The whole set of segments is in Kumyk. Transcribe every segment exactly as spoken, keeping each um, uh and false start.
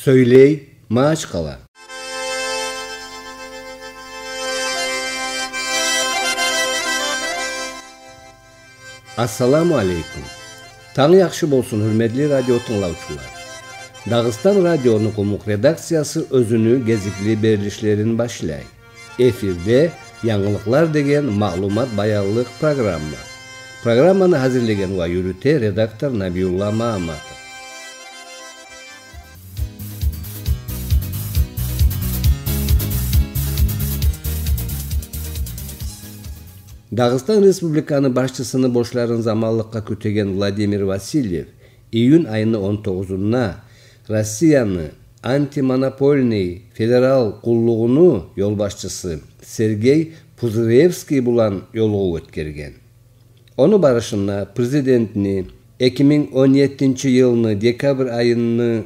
Сёйлей Магьачкъала. Ассаламу алейкум. Танг яхшы болсун, гьюрметли радио тынглавчулар. Дагъыстан радиону къумукъ редакциясы оьзюню гезикли берилишлерин башлай. Эфирде «Янгылыкълар» деген маълумат баянлыкъ программа. Программаны гьазирлеген ва юрюте редактор Набиулла Магьамматов. Дагъыстан Республиканы башчысыны борчларын заманлыкъгъа кютеген Владимир Васильев июнь айны он тогъузунда Россияны антимонопольный федерал къуллугъуну ёлбашчысы Сергей Пузыревский булан ёлугъув оьтгерген. Ону барышында президентни эки минг он еттинчи йылны декабрь айыны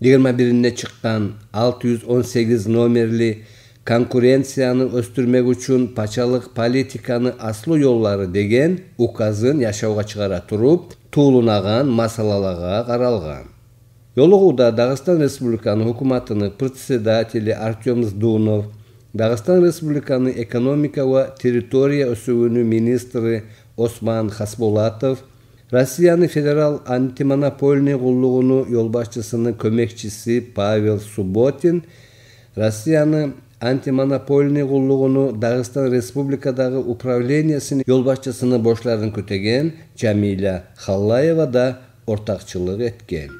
йигирма биринде чыкъгъан алты юз он сегиз номерли «Конкуренцияны оьсдюрмек учун пачалыкъ политиканы аслу ёллары» деген указын яшавгъа чыгъара туруп, тувланагъан масъалалагъа къаралгъан. Ёлугъувда Дагъыстан Республиканы гьукуматыны председатели Артём Здунов, Дагъыстан Республиканы экономика ва территория оьсювюню министри Осман Хасболатов, Россияны федерал антимонопольный къуллугъуну ёлбашчысыны кёмекчиси Павел Субботин, Россияны антимонопольный къуллугъуну Дагъыстан Республикадагъы управлениясыны ёлбашчысыны борчларын кютеген Жамиля Халлаева да ортакъчылыкъ этген.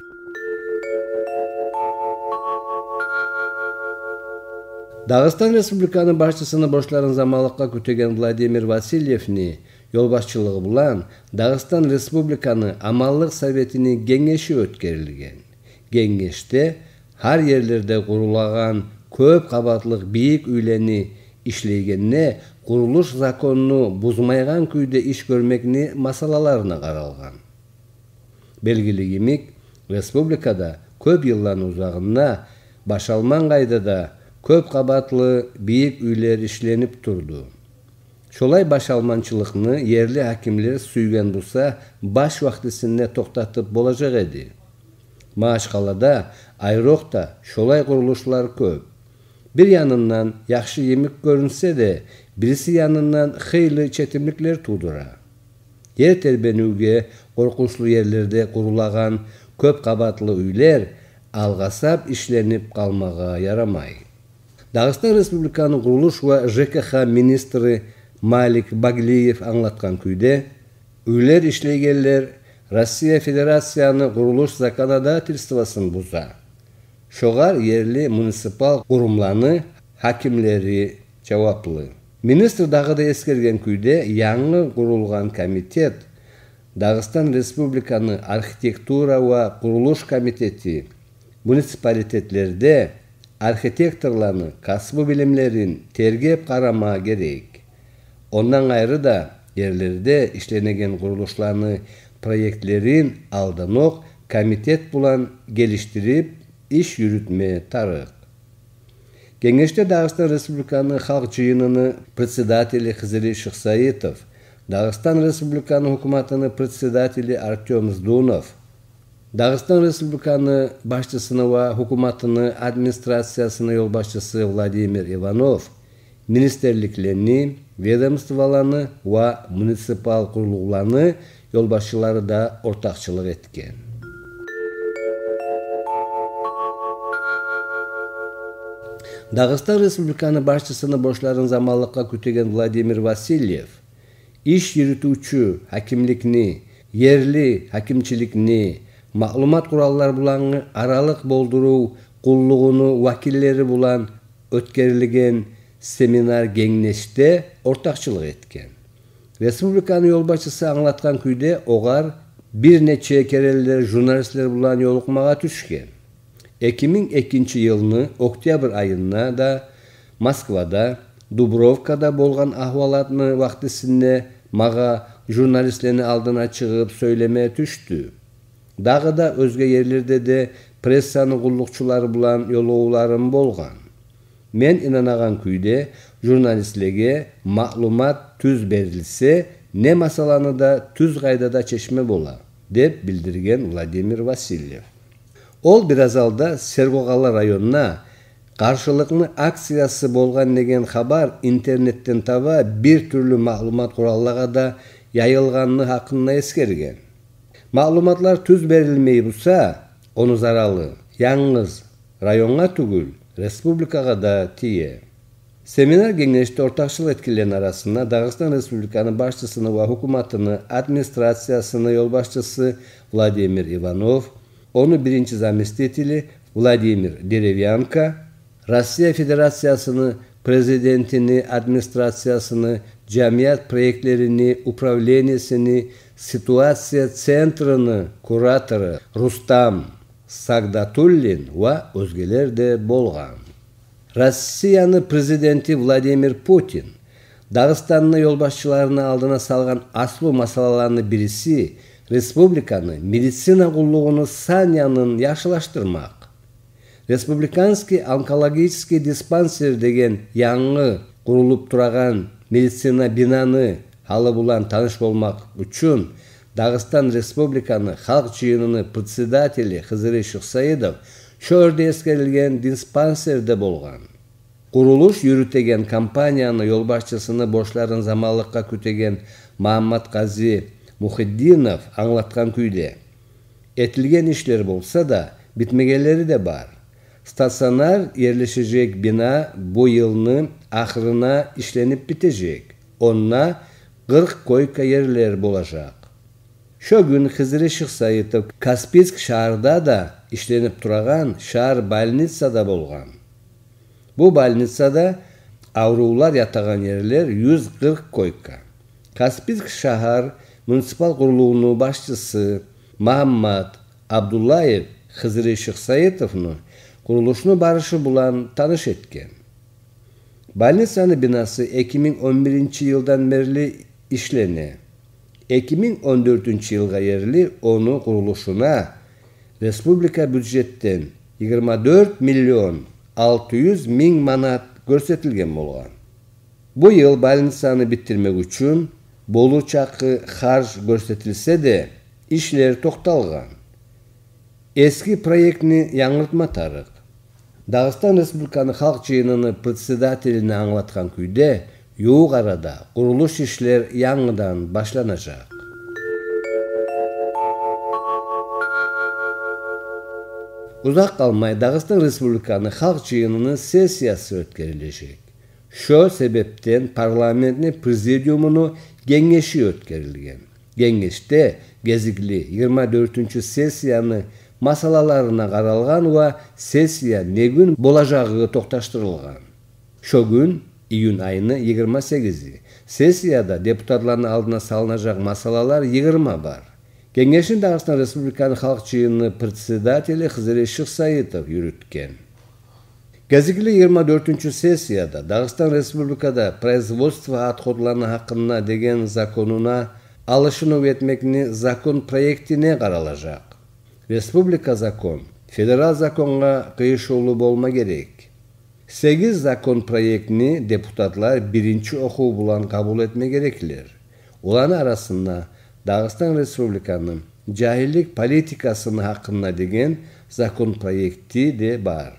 Дагъыстан Республиканы башчысыны борчларын заманлыкъгъа кютеген Владимир Васильевни ёлбашчылыгъы булан Дагъыстан Республиканы Аманлыкъ советини генгеши оьтгерилген. Генгешде гьар ерлерде къурулагъан кёп къабатлыкъ бийик уьйлени ишлейгенде къурулуш законну бузмайгъан кюйде иш гёрмекни масъалаларына къаралгъан. Белгили йимик, республикада кёп йылланы узагъында башалман къайдада кёп къабатлы бийик уьйлер ишленип турду. Шолай башалманчылыкъны ерли гьакимлер сюйген буса, баш вакътисинде токътатып болажакъ эди. Магьачкъалада айрокъда шолай къурулушлар кёп. Бир янындан яхшы йимик гёрюнсе де, бириси янындан хыйлы четимликлер тувдура. Ер тербенивге къоркъунчлу ерлерде къурулагъан кёп къабатлы уьйлер алгъасап ишленип къалмагъа ярамай. Дагъыстан Республиканы къурулуш ва ЖКХ министри Малик Баглиев англатгъан кюйде, уьйлер ишлейгенлер Россия Федерацияны къурулуш законодательствосун буза. Шогъар ерли муниципал къурумланы гьакимлери жаваплы. Министр дагъы да эсгерген кюйде, янгы къурулгъан комитет Дагъыстан Республиканы архитектура ва къурулуш комитети муниципалитетлерде архитекторланы касбу билимлерин тергеп къарама герек. Ондан къайры да, ерлерде ишленеген къурулушланы проектлерин алданокъ комитет булан гелишдирип иш юрютме тарыкъ. Генгешде Дагъыстан Республиканы Халкъ Жыйыныны председатели Хизри Шихсаитов, Дагъыстан Республиканы гьукуматыны председатели Артём Здунов, Дагъыстан Республиканы башчысыны ва гьукуматыны администрациясыны ёлбашчысы Владимир Иванов, министрликлени, ведомстволаны ва муниципал къурулгъуланы ёлбашчылары да ортакъчылыкъ этген. Дагъыстан Республиканы башчысыны борчларын заманлыкъгъа кютеген Владимир Васильев иш юрютювчю гьакимликни, ерли гьакимчиликни, маълумат къураллар булангъы аралыкъ болдурув къуллугъуну вакиллери булан оьтгерилген семинар-генгешде ортакъчылыкъ этген. Республиканы ёлбашчысы англатгъан кюйде, огъар бир нече керенлер журналистлер булан ёлукъмагъа тюшген. Эки минг экинчи йылны октябрь айында да Москвада, Дубровкада болгъан агьвалатны вакътисинде магъа журналистлени алдына чыгъып сёйлеме тюшдю. Дагъы да оьзге ерлерде де прессаны къуллукъчулары булан ёлугъувларым болгъан. Мен инанагъан кюйде, журналистлеге маълумат тюз берилсе, не масъаланы да тюз къайдада чечме бола, деп билдирген Владимир Васильев. Ол бираз алда Сергокъала районуна къаршылыкъны акциясы болгъан деген хабар интернетден таба бир тюрлю маълумат къураллагъа да яйылгъаны гьакъында эсгерген. Маълуматлар тюз берилмей буса, ону заралы янгыз районгъа тюгюл, республикагъа да тие. Семинар-генгешде ортакъчылыкъ этгенлени арасында Дагъыстан Республиканы башчысыны ва гьукуматыны администрациясыны ёлбашчысы Владимир Иванов, ону биринчи заместители Владимир Деревянко, Россия Федерациясыны Президентини администрациясыны жамият проектлерини управлениесини ситуация центрини куратору Рустам Сагдатуллин ва оьзгелер де болгъан. Россияны Президенти Владимир Путин Дагъыстанны ёлбашчыларыны алдына салгъан аслу масъалаланы бириси республиканы медицина къуллугъуну сан янын яхшылашдырмакъ. Республиканский онкологический диспансер деген янгы къурулуп турагъан медицина бинаны гьалы булан таныш болмакъ учун Дагъыстан Республиканы Халкъ Жыйыныны председатели Хизри Шихсаитов шо ерде эсгерилген диспансерде болгъан. Къурулуш юрютеген компанияны ёлбашчысыны борчларын заманлыкъгъа кютеген Магьамматгъази Мухитдинов англатгъан кюйде, этилген ишлер болса да, битмегенлери де бар. Стационар ерлешежек бина бу йылны ахырына ишленип битежек. Онда къыркъ койка ерлер болажакъ. Шо гюн Хизри Шихсаитов Каспийск шагьарда да ишленип турагъан шагьар больницада болгъан. Бу больницада аврувлар ятагъан ерлер юз къыркъ койка. Каспийск шагьар муниципал къурулугъуну башчысы Магьаммат Абдуллаев Хизри Шихсаитовну къурулушну барышы булан таныш этген. Больницаны бинасы эки минг он биринчи йылдан берли ишлене. Эки минг он дёртюнчю йылгъа ерли ону къурулушуна республика бюджетден йигирма дёрт миллион алты юз минг манат гёрсетилген болгъан. Бу йыл больницаны битдирмек учун болур чакъы харж гёрсетилсе де, ишлер токъталгъан. Эски проектни янгыртма тарыкъ. Дагъыстан Республиканы Халкъ Жыйыныны председателине англатгъан кюйде, ювукъ арада къурулуш ишлер янгыдан башланажакъ. Узакъ къалмай Дагъыстан Республиканы Халкъ Жыйыныны сессиясы оьтгерилежек. Шо себепден парламентни президиумуну генгеши оьтгерилген. Генгешде гезикли йигирма дёртюнчю сессияны масъалаларына къаралгъан ва сессия не гюн болажагъы токъташдырылгъан. Шо гюн, июнь айыны йигирма сегизи, сессияда депутатланы алдына салынажакъ масъалалар йигирма бар. Генгешни Дагъыстан Республиканы Халкъ Жыйыныны председатели Хизри Шихсаитов юрютген. Гезикли йигирма дёртюнчю сессияда Дагъыстан Республикада производство отходланы гьакъында деген законуна алышынув этмекни закон проектине къаралажакъ. Республика закон федерал законгъа къыйышывлу болма герек. Сегиз закон проектни депутатлар биринчи охув булан къабул этме гереклер. Оланы арасында Дагъыстан Республиканы жагьиллик политикасыны гьакъында деген закон проекти де бар.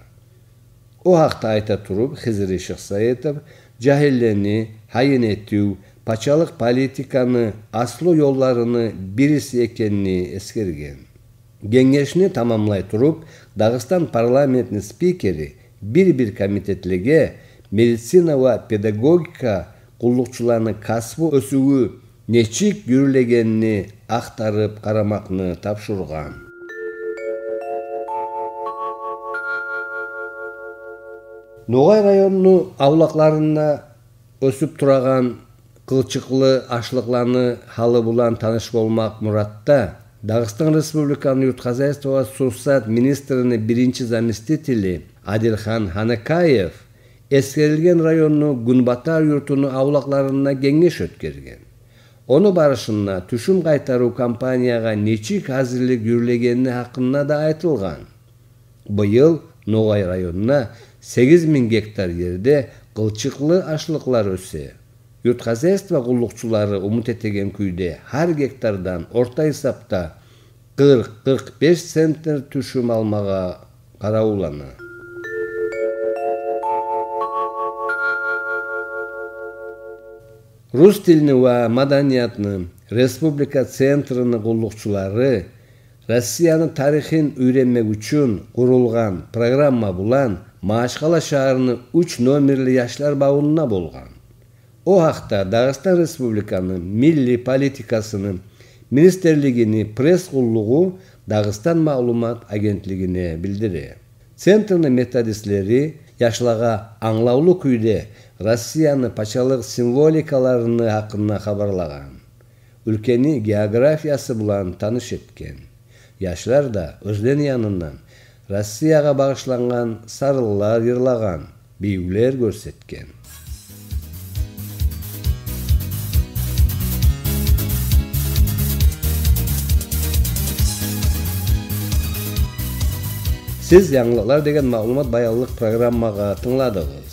О гьакъда айта туруп, Хизри Шихсаитов жагьиллени гьайын этив пачалыкъ политиканы аслу ёлларыны бириси экенни эсгерген. Генгешни тамамлай туруп, Дагъыстан парламентни спикери бир-бир комитетлеге медицина ва педагогика къуллукъчуланы касбу оьсювю нечик юрюлегенни ахтарып къарамакъны тапшургъан. Ногъай районну авлакъларында оьсюп турагъан къылчыкълы ашлыкъланы гьалы булан таныш болмакъ муратда Дагъыстан Республиканы юрт хозяйство ва сувсат министрини биринчи заместители Адилхан Ханакаев эсгерилген районну гюнбатар юртуну авлакъларында генгеш оьтгерген. Ону барышында тюшюм къайтарыв кампаниягъа нечик гьазирлик юрюлегени гьакъында да айтылгъан. Быйыл Ногъай районунда сегиз минг гектар ерде къылчыкълы ашлыкълар оьсе. Юрт хозяйство къуллукъчулары умут этеген кюйде, гьар гектардан орта гьисапда къыркъ, къыркъ беш центнер тюшюм алмагъа къаравуллана. Рус тилни ва маданиятны республика центрини къуллукъчулары Россияны тарихин уьйренмек учун къурулгъан программа булан Магьачкъала шагьарны уьч номерли яшлар бавунда болгъан. О гьакъда Дагъыстан Республиканы милли политикасыны министрлигини пресс-къуллугъу Дагъыстан маълумат агентлигине билдире. Центрни методистлери яшлагъа англавлу кюйде Россияны пачалыкъ символикаларыны гьакъында хабарлагъан, уьлкени географиясы булан таныш этген. Яшлар да оьзлени янындан Россиягъа багъышлангъан сарынлар йырлагъан, бийивлер гёрсетген. Сиз «Янгылыкълар» деген маълумат баянлыкъ программагъа тынгладыгъыз.